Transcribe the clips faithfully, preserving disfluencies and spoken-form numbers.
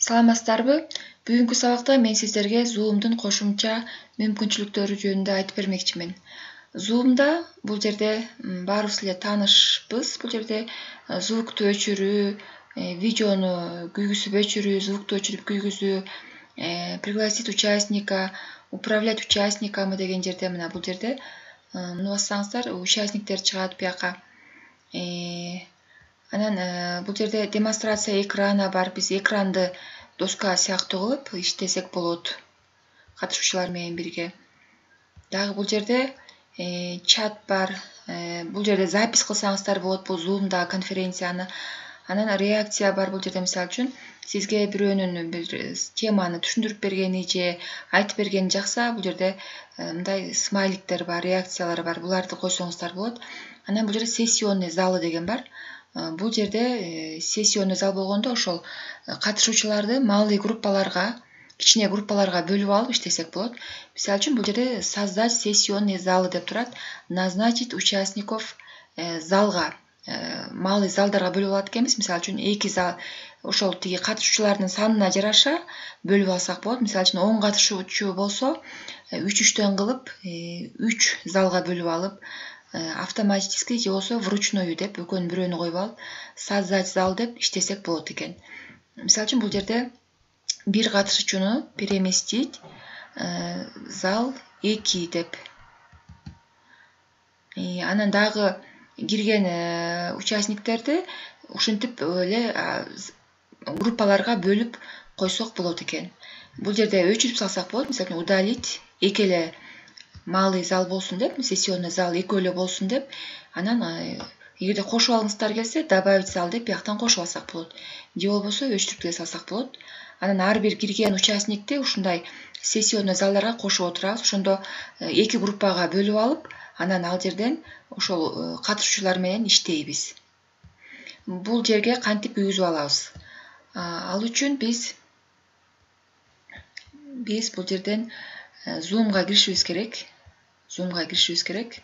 Саламатсыздарбы? Бүгүнкү сабакта мен сиздерге Zoom'дун кошумча мүмкүнчүлүктөрү жөнүндө айтып бермекчимин. Zoom'да бул жерде баарыбыз эле таанышпыз. Бул жерде звукту өчүрүү, видеону күйгүзүп өчүрүү, звукту өчүрүп күйгүзүү, пригласить участника, управлять участниками деген жерде мына бул жерде муну бассаңыздар, участниктер чыгат бияка. Анан бул жерде демонстрация экрана бар. Биз экранды доска сыяктуу кылып иштесек болот катышуучулар менен бирге. Дагы бул жерде чат бар. Бул жерде запись кылсаңыздар болот бул Zoom'да конференцияны. Анан реакция бар. Бул жерде мисалы үчүн сизге бирөөнүн бир теманы түшүндүрүп бергени же айтып бергени жакса, бул жерде мындай смайликтер бар, реакциялар бар. Буларды койсоңуздар болот. Анан бул жерде сессионный залы деген бар. Бул жерде сессионный зал болгондо ошол катышуучуларды маалый группаларга, кичине группаларга бөлүп алып иштесек болот. Мисалы үчүн бул жерде создать сессионный залы деп турат. Назначить участников залга, маалый залдарга бөлүп алат экенбиз. Мисалы үчүн эки зал ошол тиги катышуучулардын санына жараша бөлүп алсак болот. Мисалы үчүн он катышуучу болсо, үч үчтөн кылып үч залга бөлүп алып, автоматически же болбосо вручную деп экөөнүн бирөөнү коюп алып, создать зал деп иштесек болот экен. Мисалы үчүн бул жерде бир катышуучуну переместить зал эки деп. Анан дагы кирген участниктерди ушинтип эле группаларга бөлүп койсок болот экен. Бул жерде өчүрүп салсак болот. Мисалы үчүн удалить эки эле маалый зал болсун деп, сессионный зал экөө эле болсун деп. Анан эгерде кошуп алгыңыздар келсе, добавить зал деп бияктан кошуп алсак болот. Же болбосо өчтүрүп деле салсак болот. Анан ар бир кирген участникти ушундай сессионный залдарга кошуп отурабыз. Ошондо эки группага бөлүп алып, анан ал жерден ошол катышуучулар менен иштейбиз. Бул жерге кантип күйгүзүп алабыз? Ал үчүн биз биз бул жерден Zoom'га киришибиз керек. Zoom'га киришибиз керек.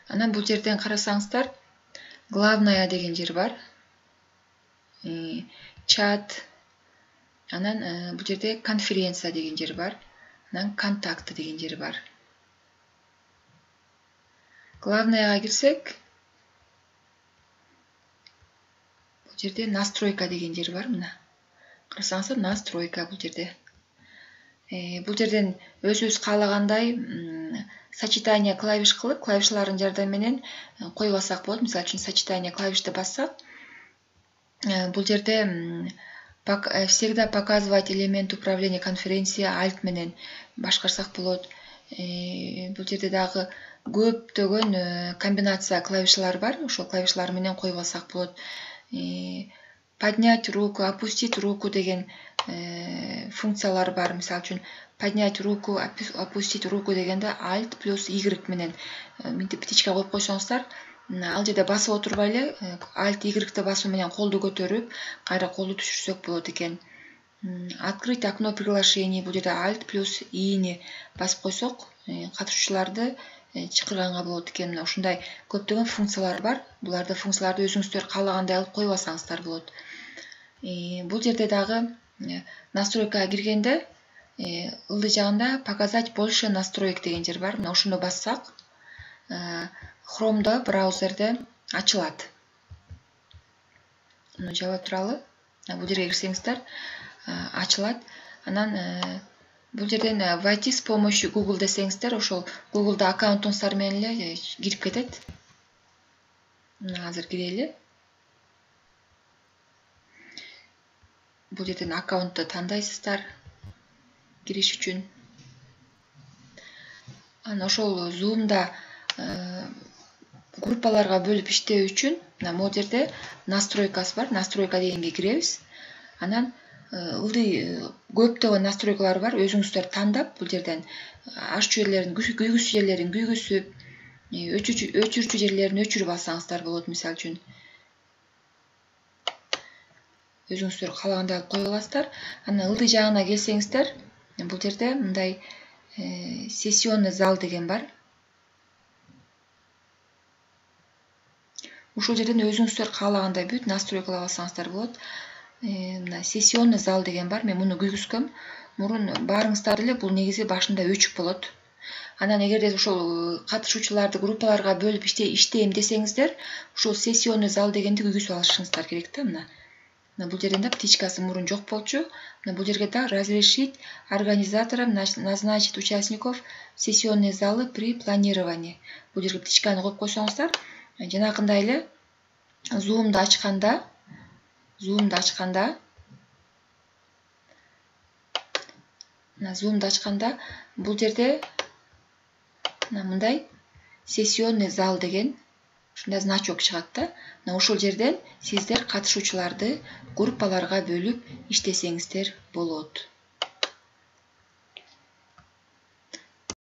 Анан бул жерден карасаңыздар, главная деген жер бар. Чат. Анан бул жерде конференция деген жер бар. Анан контакты деген жер бар. Главныйга кирсек, бул жерде настройка деген жер бар мына. Карасаңыздар, настройка бул жерде. Бул жерден өзүбүз каалагандай сочетание клавиш кылып, клавишлардын жардамы менен коюп алсак болот. Мисалы үчүн сочетание клавишти бассак, бул жерде всегда показывать элемент управления конференции альт менен башкарсак болот. Бул жерде дагы көптөгөн комбинация клавишлар бар. Ошол клавишлар менен коюп алсак болот. Поднять руку, опустить руку деген функциялар бар. Мисалы үчүн поднять руку, опустить руку дегенде Alt плюс Y менен мынтип птичка коюп койсоңуздар, ал жерде басып отурбай эле Alt Y басуу менен колду көтөрүп, кайра колду түшүрсөк болот экен. Открыть окно приглашений, бул жерде Alt плюс И-ни басып койсок, катышуучуларды чакырганга болот экен. Мына ушундай көптөгөн функциялар бар. Буларды функцияларды өзүңүздөр каалагандай алып коюп алсаңыздар болот. Бул жерде дагы настройкага киргенде ылдый жагында показать больше настроек деген жер бар. Мына ошону бассак, Chrome'да браузерде ачылат. Муну жаба туралы. Бул жерге кирсеңиздер, ачылат. Анан бул жерден войти с помощью Google десеңиздер, ошол Google'да аккаунтуңуздар менен эле кирип кетет. Мына азыр кирели. Бул жерден аккаунтты тандайсыздар кириш үчүн. Анан ошол Zoom'да группаларга бөлүп иштөө үчүн мына могу жерде настройкасы бар. Настройка дегенге киребиз. Анан ылдый көптөгөн настройкалар бар. Өзүңүздөр тандап, бул жерден аччу жерлерин, күйгүзчү жерлерин күйгүзүп, өчүрчү жерлерин өчүрүп алсаңыздар болот. Мисалы үчүн өзүңүздөр каалагандай алып коюп аласыздар. Анан ылдый жагына келсеңиздер, бул жерде мындай сессионный зал деген бар. ушул жерден өзүңүздөр каалагандай бүт настройкалап алсаңыздар болот. Мына сессионный зал деген бар. Мен муну күйгүзгөм. Мурун баарыңыздар эле бул негизи башында өчүк болот. Анан эгерде ошол катышуучуларды группаларга бөлүп иштейм десеңиздер, ушул сессионный зал дегенди күйгүзүп алышыңыздар керек да. Мына мына бул жерден да птичкасы мурун жок болчу. Мына бул жерге да разрешить организаторам назначить участников сессионной залы при планировании. Бул жерге птичканы коюп койсоңуздар, жанакындай эле Zoom'ду ачканда, Zoom'ду ачканда, мына Zoom'ду ачканда бул жерде мына мындай сессионный зал деген ушундай значок чыгат да. Мына ушул жерден сиздер катышуучуларды группаларга бөлүп иштесеңиздер болот.